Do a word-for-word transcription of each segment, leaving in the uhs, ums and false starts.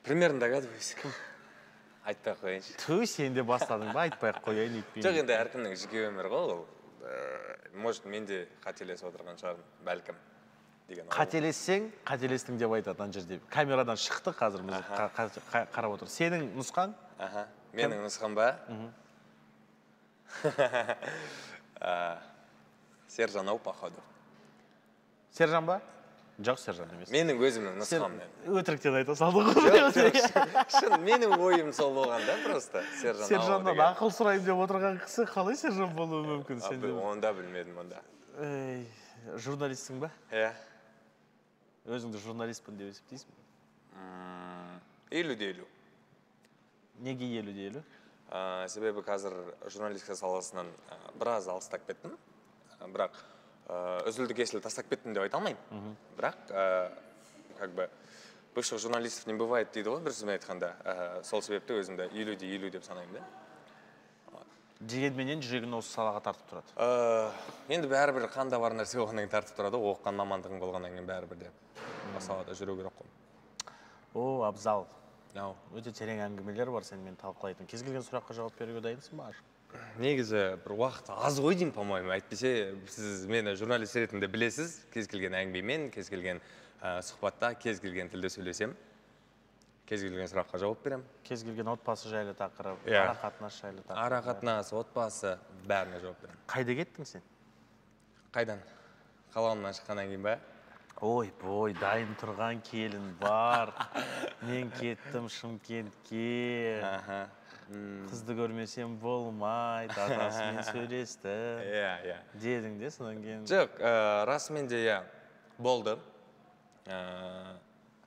примерно догадываюсь. Айтпай ақ қояйыншы. Ту, сен де бастадың ба, айтпай ақ қояйын етпейін. Жоқ, енді әркімнің жеке өмірі ғой ол. Может, мен де қателесіп отырған шығармын, бәлкім. Қателессең, қателестің деп айтады ана жерде. Камерадан шықты қазір біз қарап отыр. Сенің нұсқан? Менің нұсқан ба? Сержан ау, походу. Сержан ба? Жоқ, Сержан емес. Менің өзімнің нұсқам. Өтіріктен айта салдың ғой. Шын, менің ойым сол болған да, просто. Сержаннан ақыл сұрайым деп отырған кісі қалай сержан болуы мүмкін? Онда білмедім, онда. Журналистсің ба? Иә. Өзіңді журналистпін деп есептейсің? Елу де елу. Неге елу де елу? Себебі қазір журналистика саласынан біраз алыстап кеттім. Бірақ үзілді кесілі тастап кеттім деп айта алмаймын. Бірақ, как бы, бывших журналистов не бывает дейді ғой, бір сөзбен айтқанда. Сол себепті өзімді елу де елу деп санаймын да. Дегенменен жүрегін осы салаға тартып тұрады? Енді бәрібір қанда бар нәрсе болғаннан кейін тартып тұрады, оқыған мамандығың болғаннан кейін бәрібір де салада жүру керек қой. О, абзал. Өте терең әңгімелер бар сенімен талқылайтын. Кез келген сұраққа жауап беруге дайынсың ба? Негізі бір уақыт аз ғой деймін, по-моему. Әйтпесе, сіз мені журналист ретінде білесіз, кез келген әңгімемен, кез келген сұхбатта, кез келген тілде сөйлесем, кез келген сұраққа жауап берем. Кез келген отбасы жайлы тақырып, ара-қатынас жайлы тақырып. Ара-қатынас, отбасы, бәріне жауап берем. Қайда кеттің сен? Қайдан? Қалауымнан шыққаннан кейін ба? Ой, бой, дайын тұрған келін бар. Мен кеттім Шымкентке. Қызды көрмесем болмайды, атасымен сөйлесті. Иә, иә. Дедің де сонан кейін? Жоқ, расымен де иә, болды.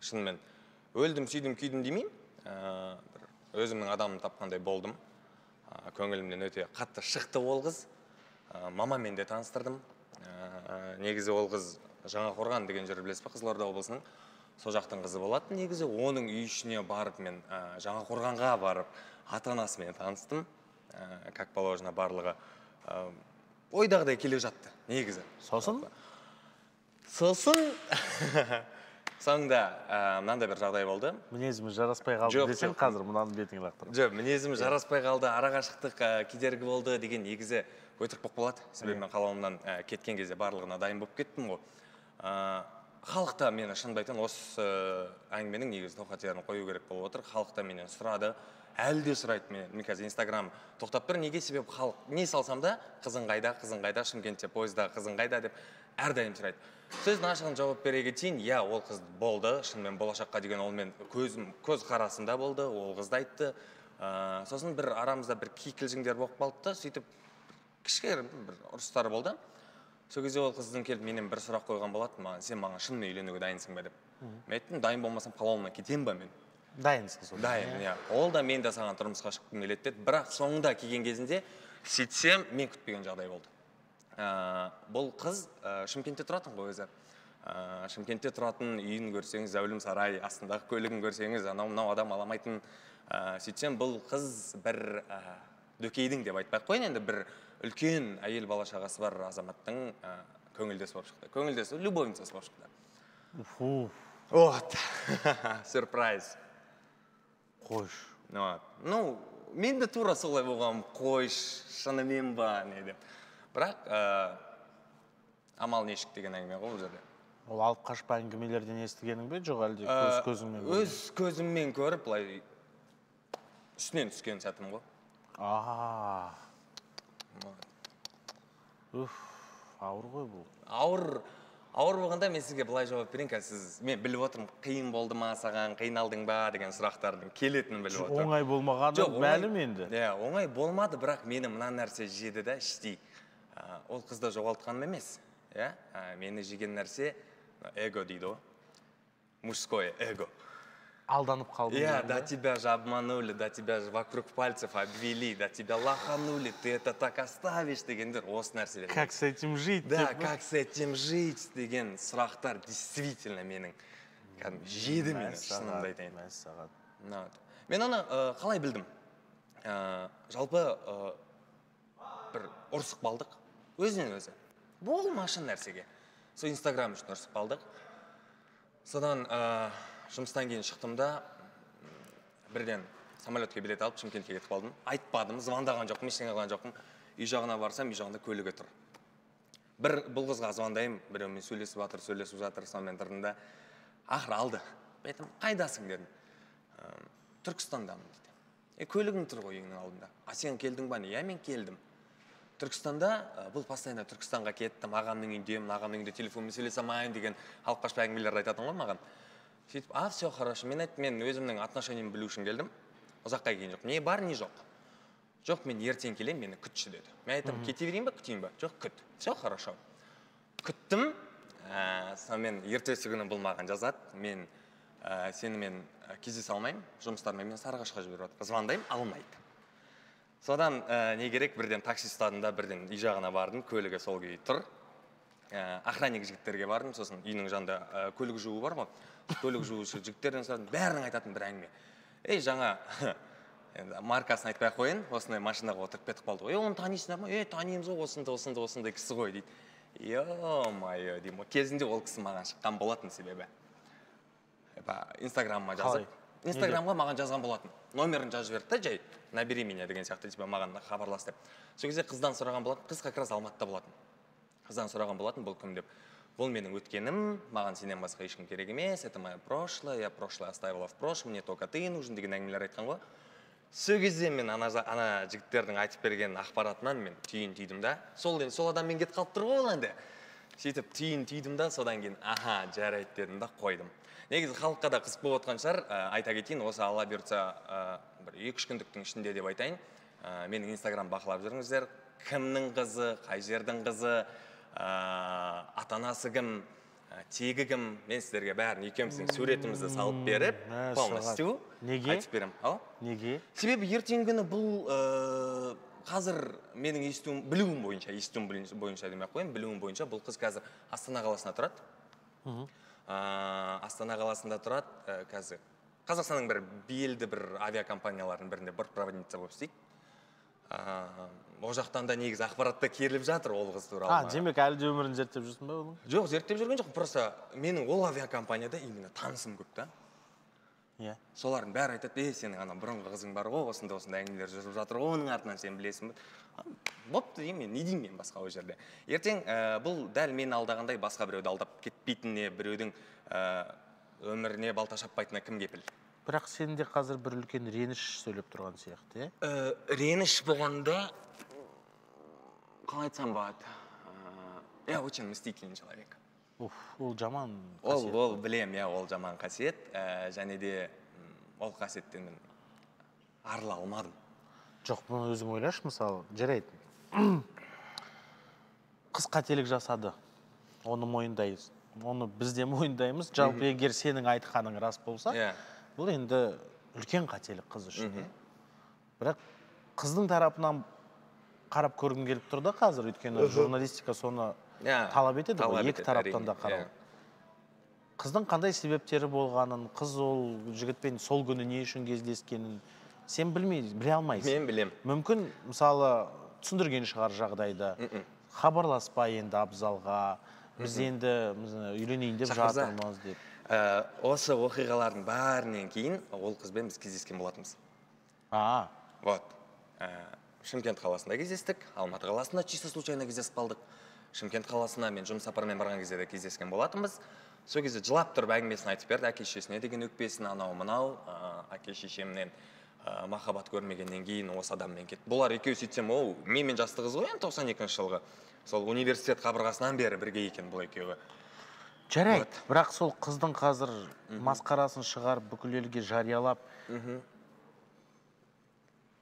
Шынымен, өлдім, сүйдім, күйдім демеймін. Өзімнің адамын тапқандай болдым. Көңілімден өте қатты шықты ол қыз. Мамамен де таныстырдым. Негізі ол қыз Жаңақорған деген жер білесіз ба, Қызылорда облысының. Сол жақтың қызы болады. Негізі оның үй ішіне барып мен Жаңақорғанға барып ата-анасымен таныстым. Как положено барлығы ойдағыдай келе жатты, негізі. Сосын? Сосын соңында мынандай бір жағдай болды. Мінезіміз жараспай қалды десең қазір мынаның бетіңе лақтырып. Жоқ, мінезіміз жараспай қалды, арақашықтық кедергі болды деген негізі өтірік болып қалады. Себебі мен қалауымнан кеткен кезде барлығына дайын болып кеттім ғой. Халықта мені шынымды айтайын, осы әңгіменің негізі тоқатерін қою керек болып отыр. Халықта менен сұрады, әлі де сұрайды менен. Мен қазір Инстаграм тоқтап тұр, неге себеп халық не салсам да, қызың қайда, қызың қайда, Шымкентте пойызда қызың қайда деп әрдайым сұрайды. Сөздің ашығын жауап бере кетейін, иә, ол қыз болды, шынымен болашаққа деген ол мен көз қарасында болды, ол қызды айтты. Сосын бір арамызда бір кикілжіңдер болып қалды да, сөйтіп кішкене бір ұрыстар болды. Сол кезде ол қыздың келіп менен бір сұрақ қойған болады, сен маған шынымен үйленуге дайынсың ба деп. Мен айттым, дайын болмасам қалауымнан кетем ба мен? Дайынсың сол. Дайын, иә. Ол да мен де саған тұрмысқа шыққым келеді деді. Бірақ соңында келген кезінде сөйтсем, мен күтпеген жағдай болды. Бұл қыз Шымкентте тұратын ғой өзі. Шымкентте тұратын үйін көрсеңіз, зәулім сарай, астындағы көлігін көрсеңіз, анау-мынау адам аламайтын. Сөйтсем, бұл қыз бір дөкейдің деп айтпай қойын, енді бір үлкен әйел бала шағасы бар азаматтың көңілдесі болып шықты. Көңілдесі, любовницасы болып шықты. Вот, сюрприз. Қойш. Ну, мен де тура солай болғам, қойш, шынымен ба, не деп. Бірақ амал нешік деген әңгіме ғой бұл жерде. Ол алып қашпа әңгімелерден естігенің бе, жоқ әлде көз көзіңмен көріп? Өз көзіммен көріп, былай үстінен түскен сәтім ғой. Ааа. Үф, ауыр ғой бұл. Ауыр, ауыр болғанда мен сізге былай жауап берейін, сіз, мен біліп отырмын, қиын болды ма саған, қиналдың ба деген сұрақтардың келетінін біліп отырмын. Оңай болмағаны мәлім енді. Иә, оңай болмады, бірақ мені мына нәрсе жеді да, іштей. Ол қызды жоғалтқаным емес. Мені жеген нәрсе эго дейді ғой. Мужское эго. Алданып қалдың. Я, да тебя же обманули, да тебя же вокруг пальцев обвели, да тебя лоханули, ты это так оставишь дегендер, осы нәрселер. Как с этим жить? Да, как с этим жить деген сұрақтар действительно менің жеді мені, шынымды айтайын. Мен оны қалай білдім? Жалпы бір ұрсық балдық, өзінен өзі. Болмашын нәрсеге. Сол Инстаграм үшін ұрсық балдық. Содан жұмыстан кейін шықтым да, бірден самолетке билет алып Шымкентке кетіп қалдым. Айтпадым, звондаған жоқпын, ештеңе қылған жоқпын. Үй жағына барсам, үй жағында көлігі тұр. Бір бұл қызға звондаймын, біреумен сөйлесіп жатыр, сөйлесіп жатыр, сонымен тұрдым да, ақыры алды. Айтым, қайдасың дедім. Түркістандамын дейді. Е, көлігің тұр ғой үйіңнің алдында. А сен келдің ба? Иә, мен келдім. Түркістанда, бұл постоянно Түркістанға кеттім, ағамның үйіндемін, ағамның үйінде телефонмен сөйлесе алмайын деген алып қашпа әңгімелерді айтатын ғой маған. Сөйтіп, а, все хорошо. Мен айттым, мен өзімнің отношениемді білу үшін келдім. Ұзаққа келген жоқ. Не бар, не жоқ. Жоқ, мен ертең келем, мені күтші деді. Мен айттым, кете берейін ба, күтейін ба? Жоқ, күт. Все хорошо. Күттім. Сонымен ертесі күні бұл маған жазады. Мен сені мен кездесе алмаймын, жұмыстармен мен Сарыағашқа жіберіп жатыр. Звондаймын, алмайды. Содан не керек, бірден такси ұстадым да, бірден үй жағына бардым, көлігі сол күйі тұр. Охранник жігіттерге бардым, сосын үйінің жанында көлік жуу бар ғой. Көлік жуушы жігіттерден сұрадым, бәрінің айтатын бір әңгіме. Ей, жаңа маркасын айтпай ақ қояйын, осындай машинаға отырып кетіп қалды ғой. Е, оны танисыңдар ма? Е, танимыз ғой, осындай, осындай, осындай кісі ғой дейді. Е-майо деймін. Кезінде ол кісі маған шыққан болатын себебі. Инстаграмыма жазып, Инстаграмға маған жазған болатын. Номерін жазып берді да, жай, набери меня деген сияқты, типа маған хабарлас деп. Сол кезде қыздан сұраған болатын, қыз как раз Алматыда болатын. Қыздан сұраған болатын, бұл кім деп. Бұл менің өткенім, маған сенен басқа ешкім керек емес, это мое прошлое, я прошлое оставила в прошлом, мне только ты нужен деген әңгімелер айтқан ғой. Сол кезде мен ана жігіттердің айтып берген ақпаратынан мен түйін түйдім да. Сол адаммен кетіп қалып тұр ғой енді. Сөйтіп түйін түйдім да, содан кейін аха, жарайды дедім да, қойдым. Негізі халыққа да қызық болып отқан шығар, айта кетейін, осы алла бұйыртса бір екі-үш күндіктің ішінде деп айтайын. Менің Инстаграм бақылап жүріңіздер. Кімнің қызы, қай жердің қызы, ата-анасы кім, тегі кім, мен сіздерге бәрін екеуміздің суретімізді салып беріп, полностью айтып берем. Неге? Себебі ертеңгі күні бұл қазір менің естуім, білуім бойынша, естуім бойынша демей қойын, білуім бойынша бұл қыз қазір Астана қаласында тұрады. Астана қаласында тұрады, қазір Қазақстанның бір белді бір авиакомпаниялардың бірінде бортпроводница болып істейді. Ол жақтан да негізі ақпаратта керіліп жатыр ол қыз туралы. А, демек әлі де өмірін зерттеп жүрсің ба оның? Жоқ, зерттеп жүрген жоқ, просто менің ол авиакомпанияда именно танысым көп та. Иә. Солардың бәрі айтады, е, сенің ана бұрынғы қызың бар ғой, осында осында әңгімелер жүріп жатыр ғой, оның артынан сен білесің бе? Бопты деймін мен, не деймін мен басқа ол жерде. Ертең бұл дәл мені алдағандай басқа біреуді алдап кетпейтініне, біреудің өміріне балта шаппайтынына кім кепіл? Бірақ сенде қазір бір үлкен реніш сөйлеп тұрған сияқты, е? Реніш болғанда, қалай айтсам болады? Я очень мстительный человек. Ол жаман қасиет. Ол білем, я ол жаман қасиет, және де ол қасиеттен мен арыла алмадым. Жоқ, бұны өзің ойлашы, мысалы, жарайды. Қыз қателік жасады, оны мойындаймыз. Оны біз де мойындаймыз. Жалпы егер сенің айтқаның рас болса, бұл енді үлкен қателік қыз үшін. Бірақ қыздың тарапынан қарап көргім келіп тұр да қазір, өйткені журналистика соны талап етеді, екі тараптан да қарау. Қыздың қандай себептері болғанын, қыз ол жігітпен сол күні не үшін кездескенін сен білмейсің, біле алмайсың. Мен білем. Мүмкін, мысалы, түсіндірген шығар жағдайда, хабарласпай енді абзалға, біз енді үйленейін деп жатырмыз деп. Осы оқиғалардың бәрінен кейін ол қызбен біз кездескен болатымыз. А. Вот. Шымкент қаласында кездестік, Алматы қаласында чисто случайно кездесіп қалдық. Шымкент қаласына мен жұмыс сапармен барған кезде де кездескен болатынбыз. Сол кезде жылап тұрып әңгімесін айтып берді, әке-шешесіне деген өкпесін, анау-мынау, әке-шешемнен махаббат көрмегеннен кейін осы адаммен кетті. Бұлар екеуі сөйтсем, оу, менімен жасты қыз ғой, тоқсан екінші жылғы. Сол университет қабырғасынан бері бірге екен бұл екеуі. Жарайды, бірақ сол қыздың қазір масқарасын шығарып, бүкіл елге жариялап,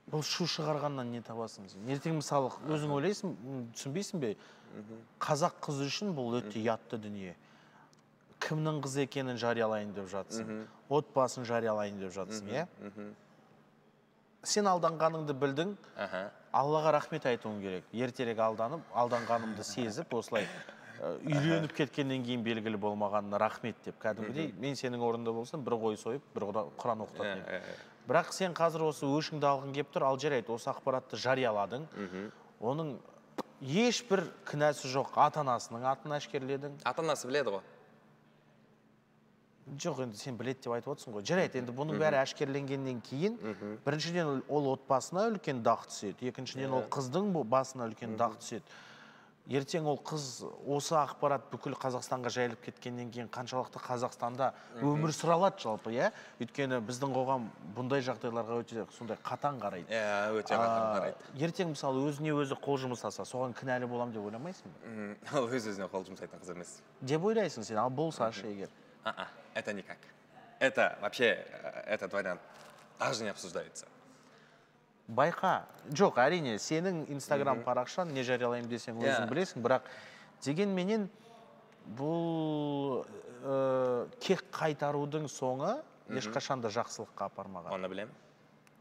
бұл шу шығарғаннан не табасың? Ертең мысалы өзің ойлайсың, түсінбейсің бе? Қазақ қыз үшін бұл өте ұятты дүние. Кімнің қыз екенін жариялайын деп жатсың, отбасын жариялайын деп жатсың, е? Сен алданғаныңды білдің, Аллаға рахмет айтуың керек. Ертерек алданып, алданғанымды сезіп, осылай үйреніп кеткеннен кейін белгілі болмағанына рахмет деп. Кәдімгідей, мен сенің орында болсам, бір қой сойып, бір Құран оқытатын едім. Бірақ сен қазір осы өшіңді алғың кеп тұр, ал жарайды, осы ақпаратты жарияладың. Оның ешбір кінәсі жоқ, ата-анасының атын әшкерледің. Ата-анасы біледі ғой. жоқ, енді сен білет деп айтып отырсың ғой. Жарайды, енді бұның бәрі әшкерленгеннен кейін, біріншіден ол отбасына үлкен дақ түседі, екіншіден ол қыздың басына үлкен дақ түседі. Ертең ол қыз осы ақпарат бүкіл Қазақстанға жайылып кеткеннен кейін қаншалықты Қазақстанда өмір сүре алады жалпы, иә? Өйткені біздің қоғам бұндай жағдайларға өте сондай қатаң қарайды. Иә, өте қатаң қарайды. Ертең мысалы өзіне өзі қол жұмсаса, соған кінәлі боламын деп ойламайсың ба? Ол өз-өзіне қол жұмсайтын қыз емес. Деп ойлайсың сен, ал болсашы егер. А-а, это никак. Это вообще, этот вариант даже не обсуждается. Байқа, жоқ, әрине, сенің инстаграм парақшан не жариялаймын десең өзің білесің, бірақ дегенменен бұл кек қайтарудың соңы ешқашанда жақсылыққа апармаған. Оны білем.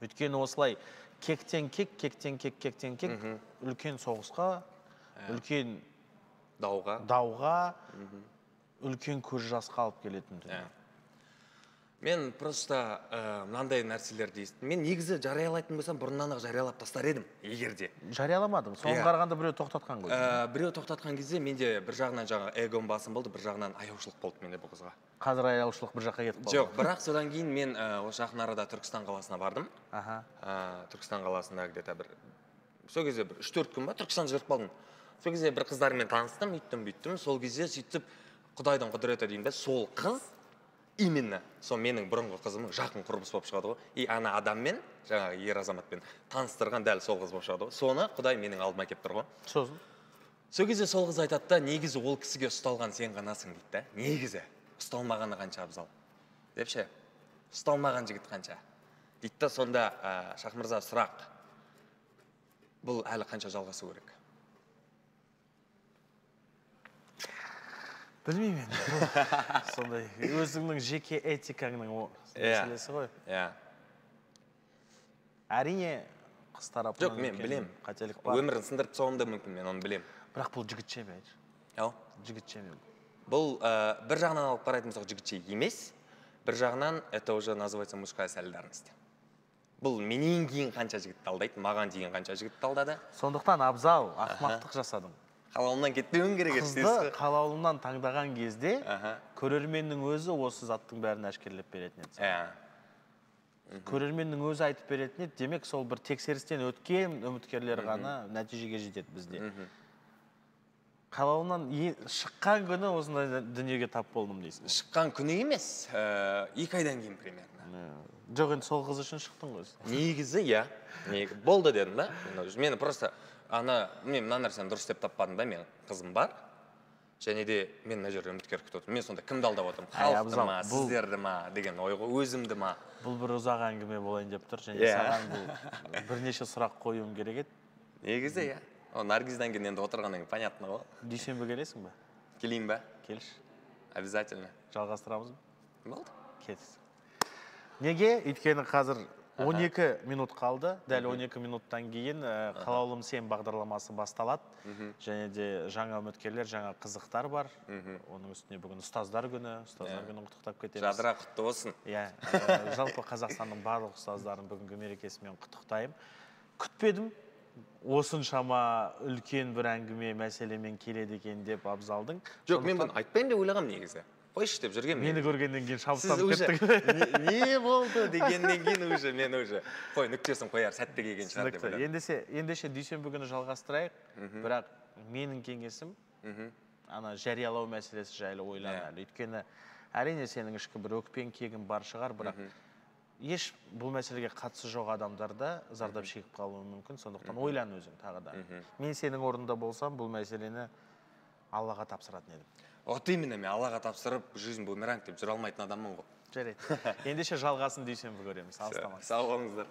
Өйткені осылай кектен кек, кектен кек, кектен кек, үлкен соғысқа, үлкен дауға, үлкен көз жасқа алып келетін дүние. Мен просто мынандай нәрселерді естідім. Мен негізі жариялайтын болсам, бұрыннан ақ жариялап тастар едім, егерде. Жарияламадым. Соңғы қарағанда біреу тоқтатқан ғой. Біреу тоқтатқан кезде менде бір жағынан жаңа эгом басым болды, бір жағынан аяушылық болды менде бұл қызға. Қазір аяушылық бір жаққа кетіп қалды. Жоқ, бірақ содан кейін мен осы жақын арада Түркістан қаласына бардым. Түркістан қаласында где-то бір сол кезде бір үш төрт күн ба Түркістан жүріп қалдым. Сол кезде бір қыздармен таныстым, үйттім, бүйттім. Сол кезде сөйтіп Құдайдың құдіреті деймін бе, сол қыз именно сол менің бұрынғы қызымның жақын құрбысы болып шығады ғой. И ана адаммен, жаңағы ер азаматпен таныстырған дәл сол қыз болып шығады ғой. Соны Құдай менің алдыма келіп тұр ғой. Сосын. Сол кезде сол қыз айтады да, негізі ол кісіге ұсталған сен ғанасың дейді да. Негізі ұсталмағаны қанша абзал. Деп ше, ұсталмаған жігіт қанша. Дейді да, сонда Шах мырза сұрақ. Бұл әлі қанша жалғасу керек? Білмеймін енді. Сондай өзіңнің жеке этикаңның мәселесі ғой. Иә. Әрине қыз тарапынан жоқ, мен білем. Қателік бар. Өмірін сындырып тастауым да мүмкін, мен оны білем. Бірақ бұл жігітше ме? Ау? Жігітше ме? Бұл бір жағынан алып қарайтын болсақ жігітше емес, бір жағынан это уже называется мужская солидарность. Бұл менен кейін қанша жігітті алдайды, маған дейін қанша жігітті алдады. Сондықтан абзал, ақымақтық жасадың. Қалауымнан кетпеуің керек. Қызды қалауымнан таңдаған кезде көрерменнің өзі осы заттың бәрін әшкерлеп беретін еді. Көрерменнің өзі айтып беретін еді, демек сол бір тексерістен өткен үміткерлер ғана нәтижеге жетеді бізде. Қалауымнан шыққан күні осындай дүниеге тап болдым дейсің. Шыққан күні емес, екі айдан кейін примерно. Жоқ, енді сол қыз үшін шықтың ғой. Негізі, иә. Болды дедім да. Мені просто ана, мен мына нәрсені дұрыс деп таппадым да, мен қызым бар. Және де мен мына жерде үміткер күтіп отырмын. Мен сонда кімді алдап отырмын? Халықты ма, сіздерді ма деген ой ғой, өзімді ма? Бұл бір ұзақ әңгіме болайын деп тұр. Және саған бұл бірнеше сұрақ қоюым керек еді. Негізі, иә. Наргиздан кейін енді отырғаннан кейін понятно ғой. Дүйсенбі келесің бе? Келейін бе? Келші. Обязательно. Жалғастырамыз ба? Болды. Кетсін. Неге? Өйткені қазір он екі минут қалды. Дәл он екі минуттан кейін Қалаулым сен бағдарламасы басталады. Және де жаңа үміткерлер, жаңа қызықтар бар. Оның үстіне бүгін ұстаздар күні, ұстаздар күні құттықтап кетеміз. Жадыра құтты болсын. Иә, жалпы Қазақстанның барлық ұстаздарын бүгінгі мерекесімен құттықтаймын. Күтпедім. Осыншама үлкен бір әңгіме мәселемен келеді екен деп абзалдың. Жоқ, мен бұны айтпайын деп ойлағам негізі. Қойшы деп жүрген мен. Мені көргеннен кейін шабыстанып кеттік. Не болды дегеннен кейін уже мен уже қой нүктесін қояр сәтті келген шығар деп ойладым. Ендеше, ендеше дүйсенбі күні жалғастырайық. Бірақ менің кеңесім ана жариялау мәселесі жайлы ойлан әлі. Өйткені әрине сенің ішкі бір өкпең кегің бар шығар, бірақ еш бұл мәселеге қатысы жоқ адамдарда зардап шегіп қалуы мүмкін. Сондықтан ойлан өзің тағы да. Мен сенің орнында болсам, бұл мәселені Аллаға тапсыратын едім. Вот именно мен Аллаға тапсырып, жизнь бумеранг деп жүре алмайтын адаммын ғой. Жарайды. Ендеше жалғасын дүйсенбі көреміз. Алыстамаңыз. Сау болыңыздар.